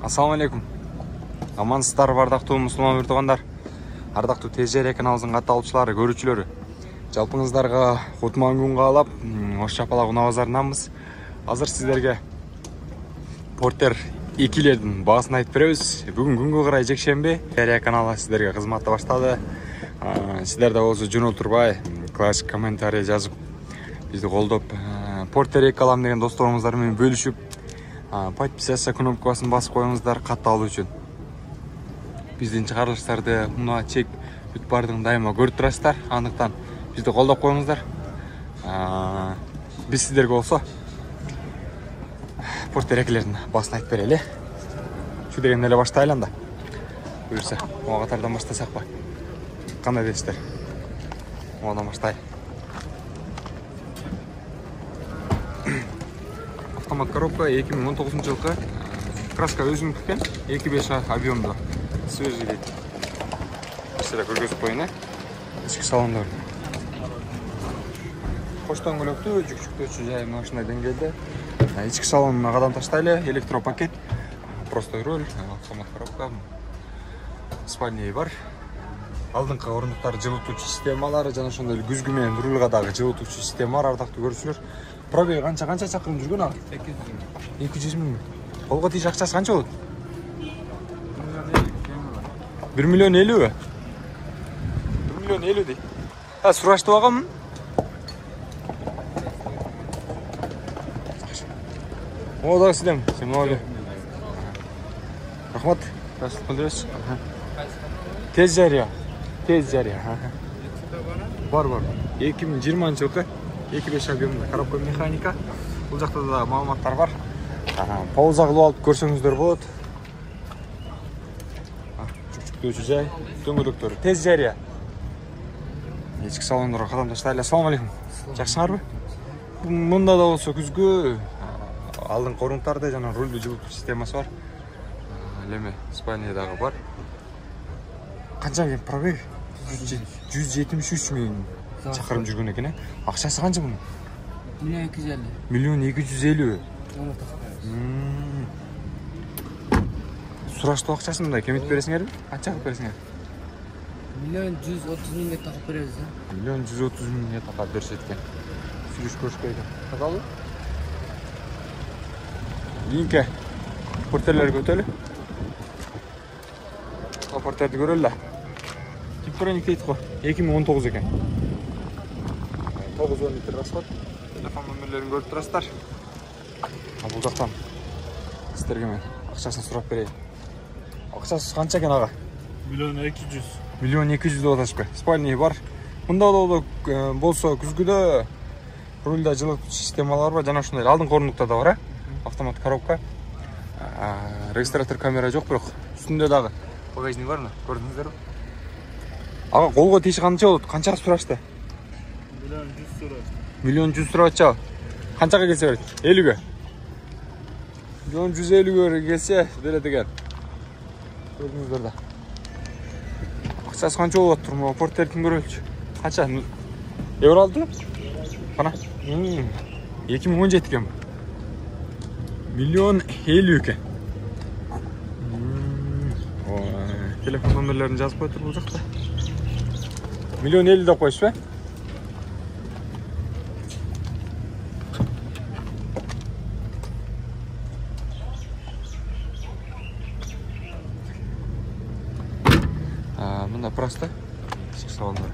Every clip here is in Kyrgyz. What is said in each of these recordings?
Assalamu alaikum. Амансыздар, бардактуу мусулман туугандар. Ардактуу ТЖР каналыбыздын катталуучулары, көрүүчүлөрү. Жалпыңыздарга кутман күн каалап, ош чапалак унаа базарынанбыз. Азыр сиздерге Porter 2лердин баасын айтып беребиз. Бүгүн күнгө карай жекшемби. ТЖР каналы сиздерге кызматты баштады. Сиздер да болсо жөнөлтүрбай, классик комментарий жазып, бизди колдоп, Porter 2 алам деген досторумуздар менен бөлүшүп, подписаться кнопкасын басып коюңуздар катталуу үчүн. Биздин чыгарылыштарды мына чек бүт бардыгын дайыма көрүп турасыздар. Андыктан бизди колдоп коюңуздар. Биз сиздерге болсо Porter 2лердин баасын айтып берели. Şu дегенде эле баштайлы анда. Буюрса, ага катардан баштасакпы? Кандай дейсиздер? Одан баштайлы. Автомат коробка 2019 жылкы. Краска өзүнүкү экен. 2.5 объемдуу. Свежий дейт. Сиздер көргөзүп коюн, ички салондор. Коштон көлөктүү, жүк-жүктөөчү жай машина деңгээлде. Ички салонуна кадам таштайлы, электропакет, простой руль, автомат коробка, спальня бар. Алдыңкы орундуктар жылытуучу системалары жана ошондой эле күзгү менен рульга дагы жылытуучу система бар, ардактуу көрүүчүлөр. Пробеги канча чакырым жүргөн ага? 200 миң. Колго тийиш акчасы канча болот? 1 миллион 50. 1 миллион 50 дейт. Сурашты багамын. О, дагы сиздем. Сен могу. Рахмат. Ташлап келдиңиз. Тез жарыя. Бар. 2020 жылкы 2.5 объемдуу коробка механика. Бул жакта да маалыматтар бар. Пауза кылып алып көрсөңүздөр болот. Жүк-жүктөөчү жай, дөңгөлөктөрү тез жарыя. Ички салондорго кадам таштайлы. Ассаламу алейкум. Жакшыңарбы? Мында да болсо күзгү алдыңкы орундуктарда жана рулдуу жылытуу системасы бар. Леме спальня дагы бар. Канча экен пробег? 173 миң чакырым жүргөн экен. Акчасы канча мунун? 1.250. 1.250. Сураштуу акчасын мындай кемитип бересиңерби? Канча кылып бересиңер? 1.130 миңге такып беребиз. 1.130 миңге такап беришет экен. Сүрүш көрүшпөйдү. Тазалуу? Линке Porter'lerге өтөлү. Porter'ди көрөлү. Типтерник дейт го. 2019 экен. 9 литр расход. Телефон номерлерин көрүп турасыздар. Бул жактан сиздерге мен акчасын сурап берейин. Акчасы канча экен ага? 1.200. 1.200 деп атышпы. Спальня бар. Мында да болсо күзгүдө рульда жылытуу системалар бар, жана ошондой алдыңкы орундукта да бар, автомат коробка. Регистратор камера жок, бирок үстүндө дагы багажник бармы? Көрдүңүздөрбү? Ага колго тийиш канча болот? Канча сурашты? 1.100 сурат. 1.100 сурача. Канчага келсе берет? 50ге. 1.150ге келсе берет экен. Көрдүңүздөр да. Акчасы канча болот турму? Porter'дин көрөлчү. Канча? Евро алды? Кана? 2017 экен. 1.050 экен. Телефон номерлерин жазып коюптур бул жакта. 1.050 деп коюшпу? Мында просто ички салондор.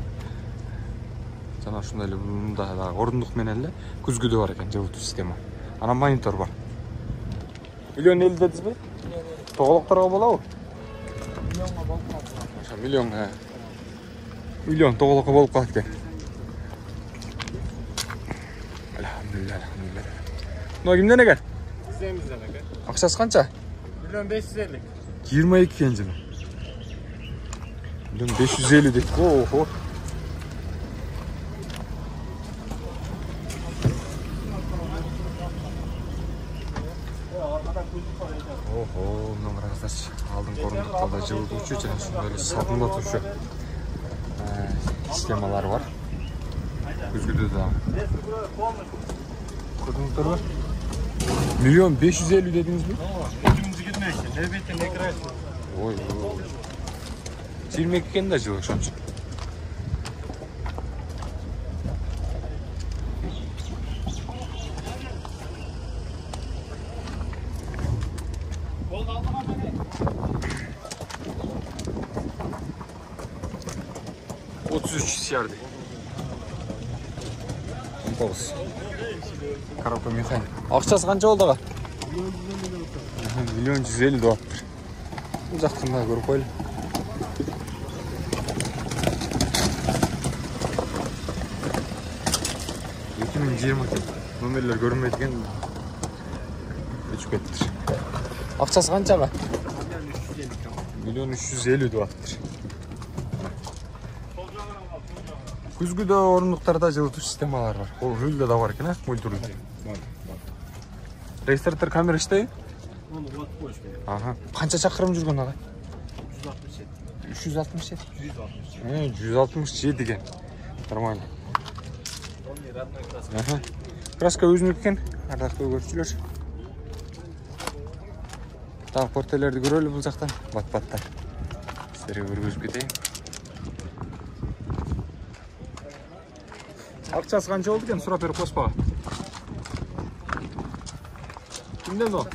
Жана ошондой эле мында дагы орундук менен эле күзгүдө бар экен жылытуу система. Анан монитор бар. 1.050 дедизби? Тоголокторго болобу? Миллионго болуп калат. Миллион тоголокко болуп калат экен. Алхамдулилlah. Мына кимден экен? Сизден экен. Акчасы канча? 1.550. 22 экен жана. 1.550 дейт. Ого. Мына караңыздарчы. Алдыңкы орундукта да жылытуучу жана ошондой эле салкындатуучу системалар бар. Күзгүдө да. Көрдүңүздөрбү? 1.550 dediniz mi? Çekilme işte. Nöbetin ne kırarsın? Ой. 22 экен да жыл ошончо. Otuz üç siyardı. 19. Коробка механик. Акчасы канча болду ага? 1.150.000 доллар. Бул жактан да көрүп коелу. Номерлер көрünmөйт экен. Өчүп кеттир. Акчасы канчага? 1.350.000 деп атыптыр. Күзгүдө орундуктарда жылытуу системалары бар. Ол рулда да бар экен, а? Мультируль. Регистратор камера иштейби? Ага. Канча чакырым жүргөн ага? 367. 167 экен. Нормально. Ага. Краска өзүнүкү экен. Ардактуу көрүүчүлөр. Дагы портелерди көрөлү бул жактан. Бат-баттар. Сиздерге көргөзүп кетейин. Акчасы канча болду экен? Сурап берип коспагы. Кимден о?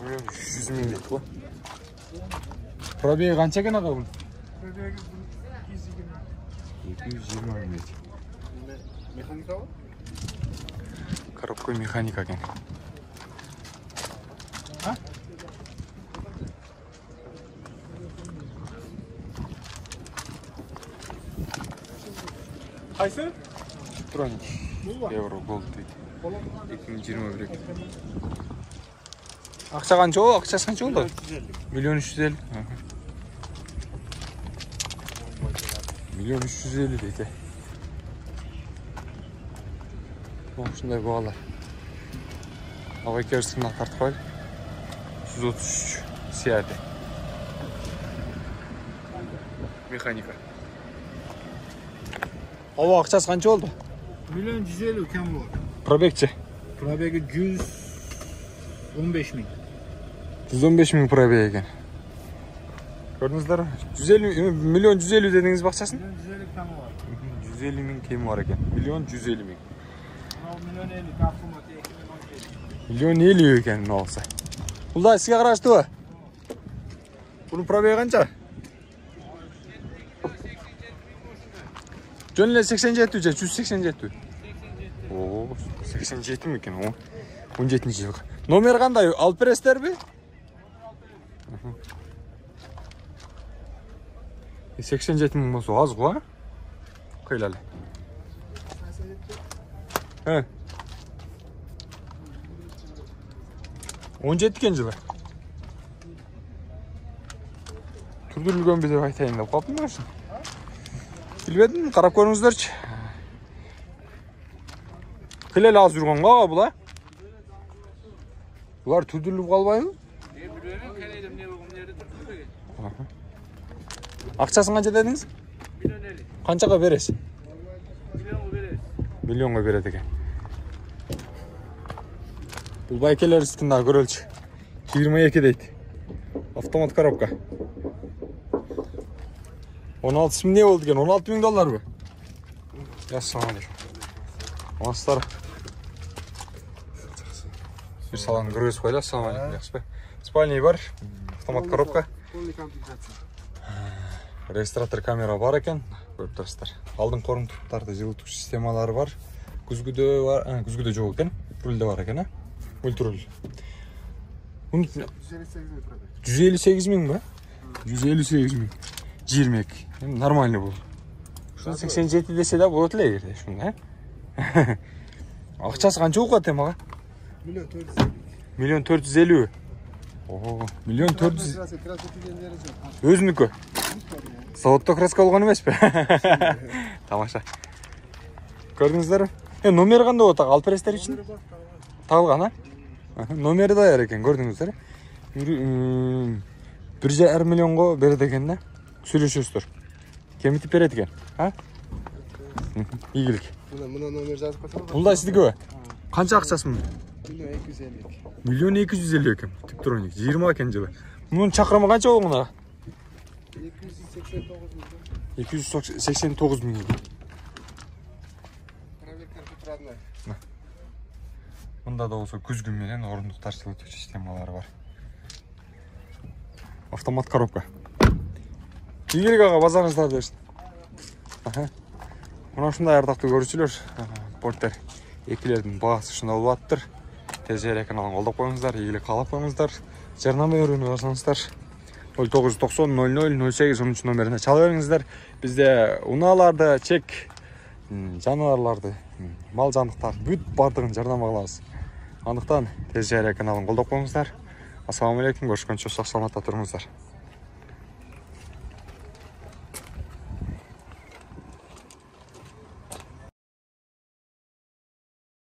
100.000 дейт го. Пробеги канча экен ага бул? Pробеги 220 дейт. Механика бар? Коробка механика экен. А? Кайсы? Троник. Евро голд дейт. 2021. Акча канча болду? Акчасы канча болду? 1.350. 1.350 дейт. Ушундай баалар. Ага керсин тартып коелу. 133 сиярды. Механика. Ава акчасы канча болду? 1.150.000 кем болду. Пробегчи. Пробеги 115.000. 115.000 пробег экен. Көрдүңүздөр? 1.150 дедиңиз бакчасын? 1.150.000 кем бар. 150.000 кеми бар экен. 1.150.000. 1.50 капсулматы 2017. 1.50 экен мына болсо. Бул да сизге караштыбы? Бунун пробеги канча? Жөн эле 87 же 187? О, 87 экен о. 17-жыл. Номер кандай? Алып бересиздерби? 87.000 болсо аз го, а? Кыйлалы. 17 экен жылы. Түрдүрүлгөнбү деп айтайын деп калдым да. Билбедим, карап көрүңүздөрчү. Кыйлалы аз жүргөн го бул, а? Булар түрдүрүлүп калбайбы? Акчасын канча дедиңиз? 1.50. Канчага бересиз? 1.000.000 берет. Миллионго берет экен. Бул байкелерибиздин да көрөлчү. 22 дейт. Автомат коробка. 16.000 не болду экен? 16.000 долларбы? Ассалам алейкум. Амансыздар. Бир салон көргөзүп коелу. Ассалам алейкум. Жакшыбы? Спальный бар, автомат коробка. Полный комплектация. Регистратор камера бар экен. Көрүп турасыздар. Алдыңкы орундуктарда жылытуу системалары бар. Күзгүдө бар, күзгүдө жок экен. Рулда бар экен, а? Мультируль. 158.000 ба? 158.000. 22. Нормально бул. Ушун 87 десе да болот эле эгерде ушунда, а? Акчасы канча болот эми ага? 1.450. Ого, 1.400. Өзүнүкү. Заводдо краска болгон эмеспи? Тамаша. Көрдүңүздөрбү? Номери кандай болот ага? Алып бересиздер үчүн? Табылган, а? Номери даяр экен, көрдүңүздөр. 1,5 миллионго берет экен да. Сүйлөшөсүздөр. Кемитип берет экен, а? Ийгилик. Мына номер жазып коесуң. Бул да сиздикиби? Канча акчасы? Миллион 250 экен. Типтроник 20 экен жылы. Мунун чакырымы канча болгон? 289 миң. Мында да болсо күзгү менен орундуктар жылытуу системалары бар. Автомат коробка. Ийгилик ага базарыңызда берсин. Мына ушундай ардактуу көрүүчүлөр, порттер экилердин баасы ушундай болуп аттыр. ТЖР каналын колдоп коюңуздар, ийгилик каалап коюңуздар. Жарнама берүүнү басаңыздар. 0990 00 08 13 номерине чала бериңиздер. Бизде унааларды, чек, жаныбарларды, мал жандыктар бүт бардыгын жарнама кылабыз. Андыктан ТЖР каналын колдоп коюңуздар. Ассаламу алейкум, көрүшкөнчө сак саламатта туруңуздар.